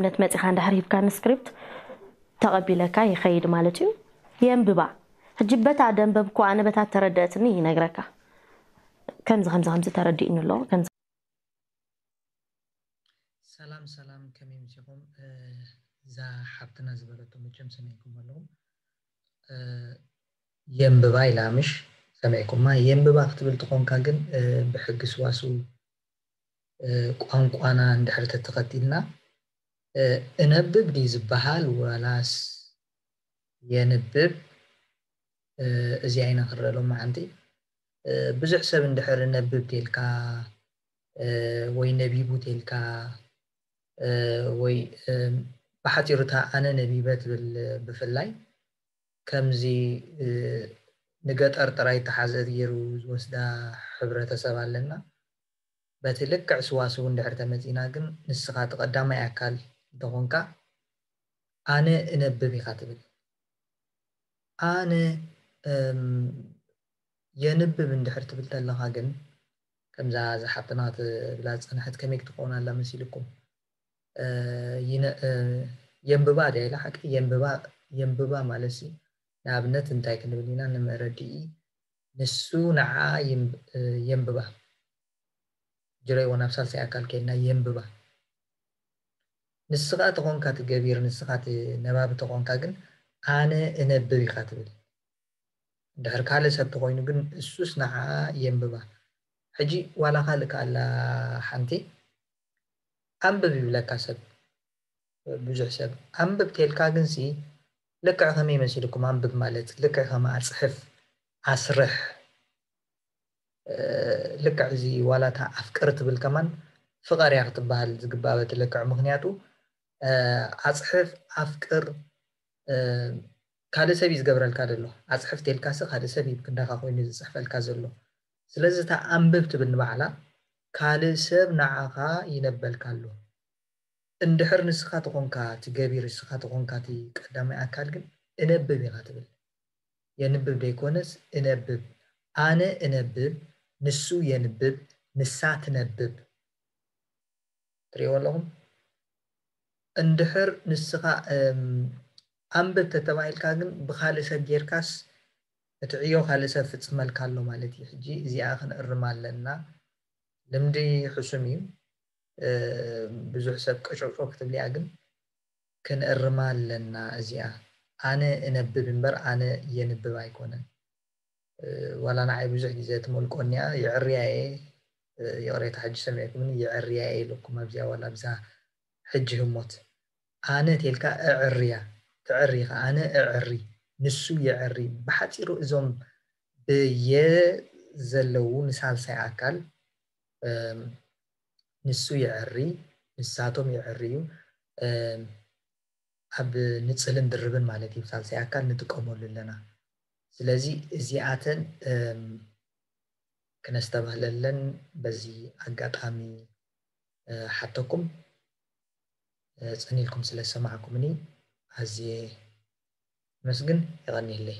ንኣብነት መጺኻ እንድሕር ሂብካኒ ስክሪፕት ተቐቢለካ ይኸይድ ማለት እዩ። የንብባ። ሕጂ በታ ደንበብኩ ኣነ በታ ተረደእትኒ ይነግረካ። ከምዚ ከምዚ ከምዚ ተረዲእኒ ኣሎ። ከምዚ ሰላም ሰላም፣ ከመይ ምሲኹም? እዛ ሓብትና ዝበለቶ መቸም ሰሚዕኩም ኣለኹም። የንብባ ኢላ ምሽ ሰሚዕኩማ? የንብባ ክትብል ትኾንካ ግን ብሕጊ ስዋስው ቋንቋና እንድሕር ተተኸቲልና እነብብ ድዩ ዝበሃል ዋላስ የንብብ? እዚኣ ኢና ክረአ ሎማዓንቲ። ብዙሕ ሰብ እንድሕር ነብብ ቴልካ ወይ ነቢቡ ቴልካ ወይ ብሓፂሩ እታ ኣነ ነቢበ ትብል ብፍላይ ከምዚ ንገጠር ጥራይ ተሓዘት ገይሩ ዝወስዳ ሕብረተሰብ ኣለና። በቲ ልክዕ ስዋስው እንድሕር ተመፂና ግን ንስኻ እቲ ቀዳማይ ኣካል እንተኾንካ ኣነ እነብብ ኢኻ ትብል። ኣነ የንብብ እንድሕር ትብል ተለኻ ግን ከምዛ ዝሓብትና ትብላ ዝፀንሐት ከመይ ክትኸውን ኣላ መሲልኩም? የንብባ ድያ ኢላ ሓቂ የንብባ ማለት ሲ ንኣብነት እንታይ ክንብል ኢና ንመረድኢ ንሱ ንዓ የንብባ ጅረይዎ ናብ ሳልሳይ ኣካል ከይድና የንብባ ንስኻ ተኾንካ ትገቢር ንስኻ ነባቢ ተኾንካ ግን ኣነ እነብብ ኢኻ ትብል እንድሕር ካልእ ሰብ ተኾይኑ ግን እሱስ ንዓ የንብባ ሕጂ ዋላ ካልእ ከኣላ ሓንቲ ኣንብብ ይብለካ ሰብ ብዙሕ ሰብ ኣንብብ ቴልካ ግንሲ ልክዕ ከመይ መሲልኩም ኣንብብ ማለት ልክዕ ከማ ኣፅሕፍ ኣስርሕ ልክዕ እዚ ዋላታ ኣፍቅር ትብል ከማን ፍቐር እያ ክትበሃል ዝግባእ በቲ ልክዕ ምክንያቱ ኣፅሕፍ ኣፍቅር ካልእ ሰብ እዩ ዝገብረልካ ዘሎ ኣፅሕፍ ቴልካሲ ካልእ ሰብ እዩ ክንዳኻ ኮይኑ ዝፅሕፈልካ ዘሎ ስለዚ እታ ኣንብብ ትብል ንባዕላ ካልእ ሰብ ንዓኻ ይነበልካ ኣሎ እንድሕር ንስኻ ተኾንካ እቲ ገቢር ንስኻ ተኾንካ እቲ ቀዳማይ ኣካል ግን እነብብ ኢኻ ትብል የንብብ ደይኮነስ እነብብ ኣነ እነብብ ንሱ የንብብ ንሳ ትነብብ ትሪእዎ ኣለኹም እንድሕር ንስኻ ኣንብብ ተተባሂልካ ግን ብኻልእ ሰብ ጌርካስ እቲ ዕዮ ካልእ ሰብ ፍፅመልካ ኣሎ ማለት እዩ ሕጂ እዚኣ ክንእርማ ኣለና ልምዲ ሕሱም እዩ ብዙሕ ሰብ ቀጨውጨው ክትብልያ ግን ክንእርማ ኣለና እዚኣ ኣነ እነብብ እምበር ኣነ የንብብ ኣይኮነን ዋላ ንዓይ ብዙሕ ግዜ ትመልቆኒያ ይዕርያ እየ ይቕሬታ ሕጂ ሰሚዕኩምኒ ይዕርያ እየ ኢለኩም ኣብዚኣ ዋላ ኣብዛ ሕጂ ህሞት ኣነ ቴልካ እዕርያ ትዕሪ ኢኻ ኣነ እዕሪ ንሱ ይዕሪ ብሓፂሩ እዞም ብየ ዘለዉ ንሳልሳይ ኣካል ንሱ ይዕሪ ንሳቶም ይዕርዩ ኣብ ንፅልን ድርብን ማለት እዩ ሳልሳይ ኣካል ንጥቀመሉ ኣለና ስለዚ እዚኣተን ክነስተባህለለን በዚ ኣጋጣሚ ሓተኩም ፀኒልኩም ስለ ዝሰማዕኩምኒ ኣዝየ መስግን የቐኒለይ